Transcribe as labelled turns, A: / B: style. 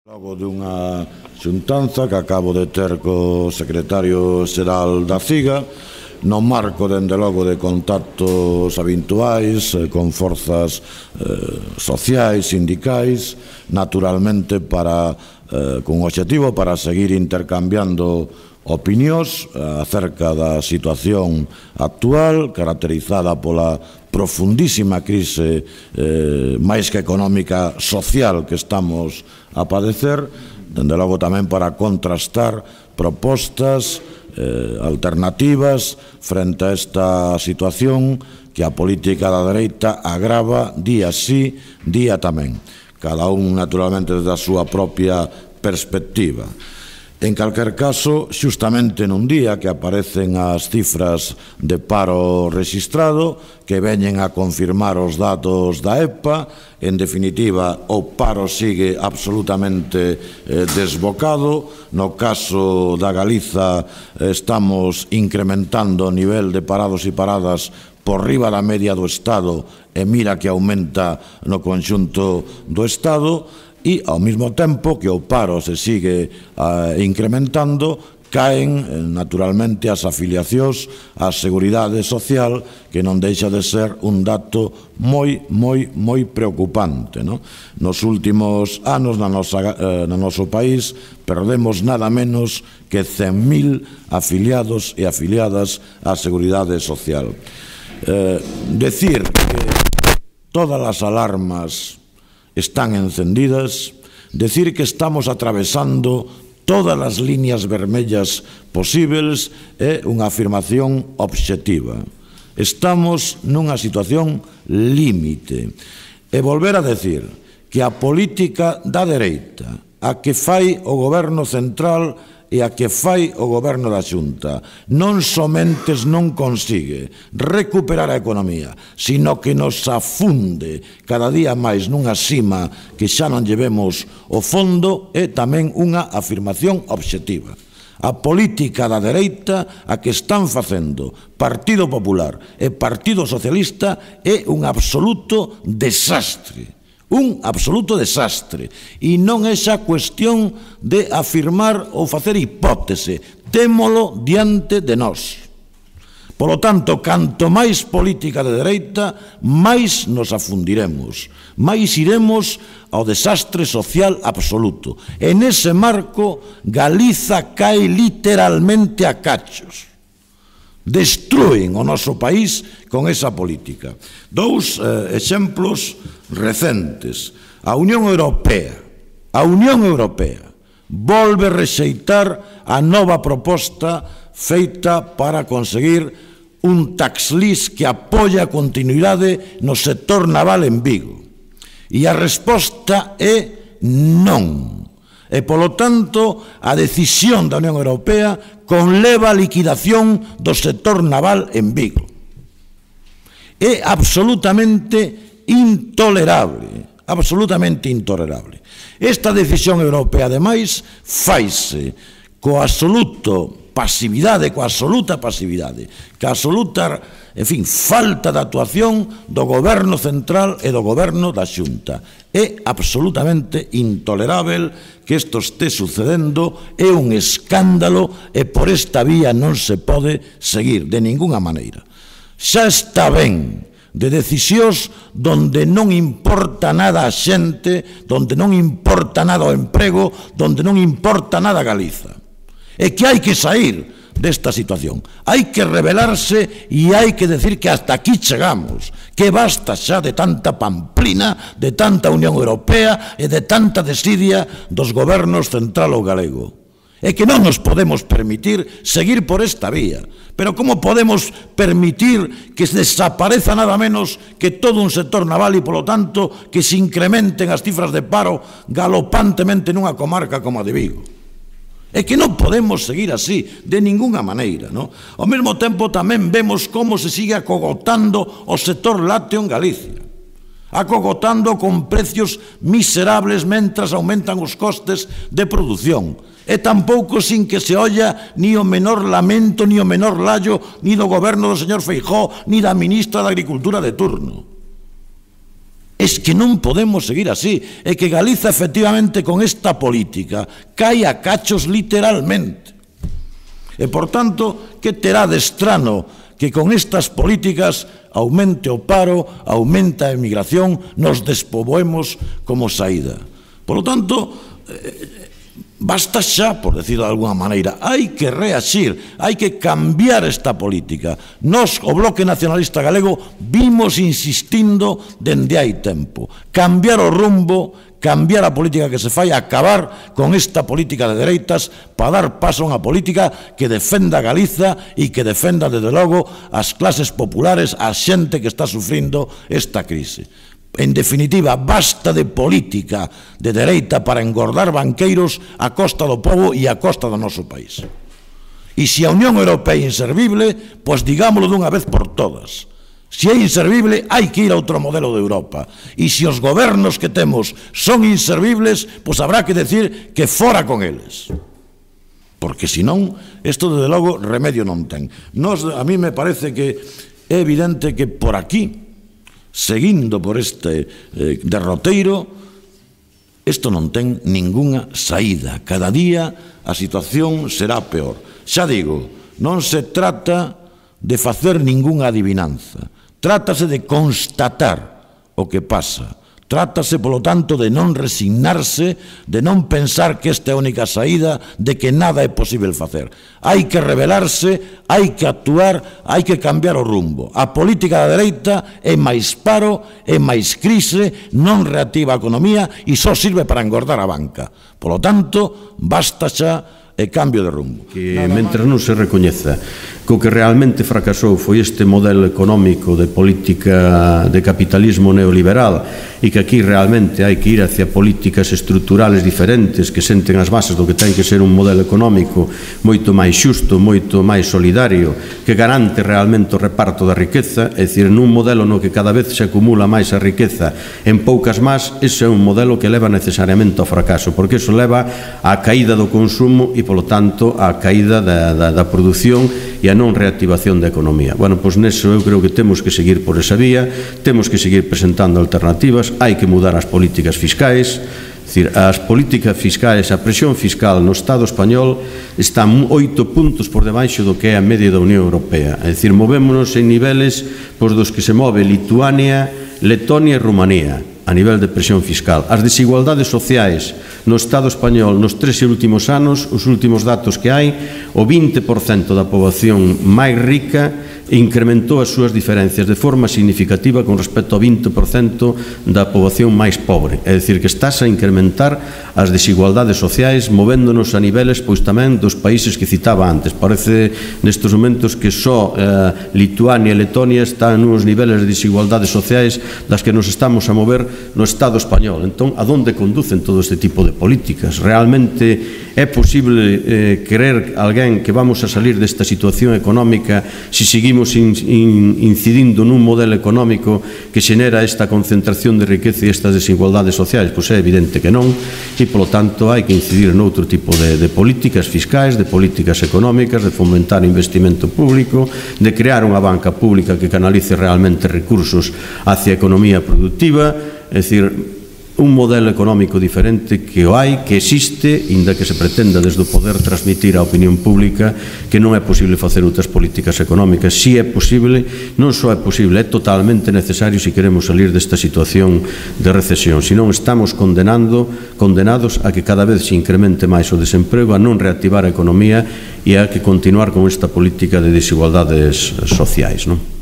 A: Logo dunha xuntanza que acabo de ter co secretario xeral da CIGA, no marco, dende logo, de contactos habituais con forzas sociais, sindicais, naturalmente con obxectivo para seguir intercambiando opinións acerca da situación actual, caracterizada pola profundísima crise máis que económica social que estamos a padecer, dende logo tamén para contrastar propostas alternativas frente a esta situación que a política da dereita agrava día sí, día tamén, cada un naturalmente desde a súa propia perspectiva. En calquer caso, xustamente nun día que aparecen as cifras de paro rexistrado, que veñen a confirmar os datos da EPA, en definitiva, o paro sigue absolutamente desbocado. No caso da Galiza, estamos incrementando o nivel de parados e paradas por riba da media do Estado, e mira que aumenta no conxunto do Estado, e ao mesmo tempo que o paro se sigue incrementando, caen naturalmente as afiliacións á Seguridade Social, que non deixa de ser un dato moi preocupante. Nos últimos anos no noso país perdemos nada menos que 100.000 afiliados e afiliadas á Seguridade Social. Decir que todas as alarmas están encendidas, decir que estamos atravesando todas as líneas vermellas posibles é unha afirmación obxectiva. Estamos nunha situación límite. E volver a decir que a política da dereita, a que fai o goberno central e a que fai o goberno da Xunta, non somente non consigue recuperar a economía, sino que nos afunde cada día máis nunha sima que xa non llevemos o fondo, é tamén unha afirmación obxectiva. A política da dereita, a que están facendo Partido Popular e Partido Socialista, é un absoluto desastre. Un absoluto desastre, e non é xa cuestión de afirmar ou facer hipótese, témolo diante de nós. Polo tanto, canto máis política de dereita, máis nos afundiremos, máis iremos ao desastre social absoluto. En ese marco, Galiza cae literalmente a cachos. Destrúen o noso país con esa política. Dous exemplos recentes. A Unión Europea volve rexeitar a nova proposta feita para conseguir un tax list que apoia a continuidade no sector naval en Vigo. E a resposta é non. E, polo tanto, a decisión da Unión Europea conleva a liquidación do sector naval en Vigo. É absolutamente intolerable, absolutamente intolerable. Esta decisión europea, ademais, faise coa absoluta pasividade, coa absoluta falta de actuación do goberno central e do goberno da Xunta. É absolutamente intolerável que isto este sucedendo, é un escándalo, e por esta vía non se pode seguir de ninguna maneira. Xa está ben de decisións donde non importa nada a xente, donde non importa nada o emprego, donde non importa nada a Galiza. É que hai que sair desta situación, hai que rebelarse e hai que decir que hasta aquí chegamos, que basta xa de tanta pamplina, de tanta Unión Europea e de tanta desidia dos gobernos central ou galego. É que non nos podemos permitir seguir por esta vía. Pero como podemos permitir que desapareza nada menos que todo un sector naval e, polo tanto, que se incrementen as cifras de paro galopantemente nunha comarca como a de Vigo? É que non podemos seguir así, de ninguna maneira. Ao mesmo tempo tamén vemos como se sigue acogotando o sector lácteo en Galicia, acogotando con precios miserables mentras aumentan os costes de produción, e tampouco sin que se olla ni o menor lamento, ni o menor lallo, ni do goberno do señor Feijóo, ni da ministra de Agricultura de turno. Es que non podemos seguir así, é que Galiza efectivamente con esta política cae a cachos literalmente. E, por tanto, que terá de estrano que con estas políticas aumente o paro, aumente a emigración, nos despoboemos como saída. Por lo tanto, basta xa, por decirlo de alguna maneira, hai que reaxir, hai que cambiar esta política. Nos, o Bloque Nacionalista Galego, vimos insistindo dende hai tempo. Cambiar o rumbo, cambiar a política que se fai, acabar con esta política de dereitas para dar paso a unha política que defenda a Galiza e que defenda, desde logo, as clases populares, a xente que está sufrindo esta crise. En definitiva, basta de política de dereita para engordar banqueiros a costa do pobo e a costa do noso país. E se a Unión Europea é inservible, pois digámoslo dunha vez por todas. Se é inservible, hai que ir a outro modelo de Europa. E se os gobernos que temos son inservibles, pois habrá que decir que fora con eles. Porque senón, isto desde logo remedio non ten. A mí me parece que é evidente que por aquí, seguindo por este derroteiro, isto non ten ningunha saída. Cada día a situación será peor. Xa digo, non se trata de facer ningunha adivinanza, trátase de constatar o que pasa. Trátase, polo tanto, de non resignarse, de non pensar que esta é a única saída, de que nada é posible facer. Hai que rebelarse, hai que actuar, hai que cambiar o rumbo. A política da dereita é máis paro, é máis crise, non reactiva a economía e só sirve para engordar a banca. Polo tanto, basta xa e cambio de rumbo.
B: Que mentre non se recoñeza que o que realmente fracasou foi este modelo económico de política de capitalismo neoliberal e que aquí realmente hai que ir hacia políticas estruturales diferentes que senten as bases do que ten que ser un modelo económico moito máis xusto, moito máis solidario, que garante realmente o reparto da riqueza, é dicir, nun modelo no que cada vez se acumula máis a riqueza en poucas más, ese é un modelo que leva necesariamente ao fracaso, porque iso leva á caída do consumo e, polo tanto, á caída da produción e a non reactivación da economía. Bueno, pois neso eu creo que temos que seguir por esa vía, temos que seguir presentando alternativas, hai que mudar as políticas fiscais, as políticas fiscais, a presión fiscal no Estado español está 8 puntos por debaixo do que é a media da Unión Europea. É dicir, movémonos en niveles dos que se move Lituania, Letonia e Rumanía a nivel de presión fiscal. As desigualdades sociais no Estado español nos 3 últimos anos, os últimos datos que hai, o 20% da poboación máis rica incrementou as súas diferencias de forma significativa con respecto ao 20% da poboación máis pobre. É dicir, que estás a incrementar as desigualdades sociais movéndonos a niveles pois tamén dos países que citaba antes. Parece nestes momentos que só Lituania e Letonia están nuns niveles de desigualdades sociais das que nos estamos a mover no Estado español. Entón, a donde conducen todo este tipo de políticas? Realmente é posible creer alguén que vamos a salir desta situación económica se seguimos incidindo nun modelo económico que xenera esta concentración de riqueza e estas desigualdades sociais? Pois é evidente que non, e polo tanto hai que incidir noutro tipo de políticas fiscais, de políticas económicas, de fomentar investimento público, de crear unha banca pública que canalice realmente recursos hacia a economía productiva, é dicir, un modelo económico diferente que o hai, que existe, inda que se pretenda desde o poder transmitir á opinión pública que non é posible facer outras políticas económicas. Si é posible, non só é posible, é totalmente necesario se queremos salir desta situación de recesión. Se non, estamos condenados a que cada vez se incremente máis o desemprego, a non reactivar a economía e a que continuar con esta política de desigualdades sociais, non?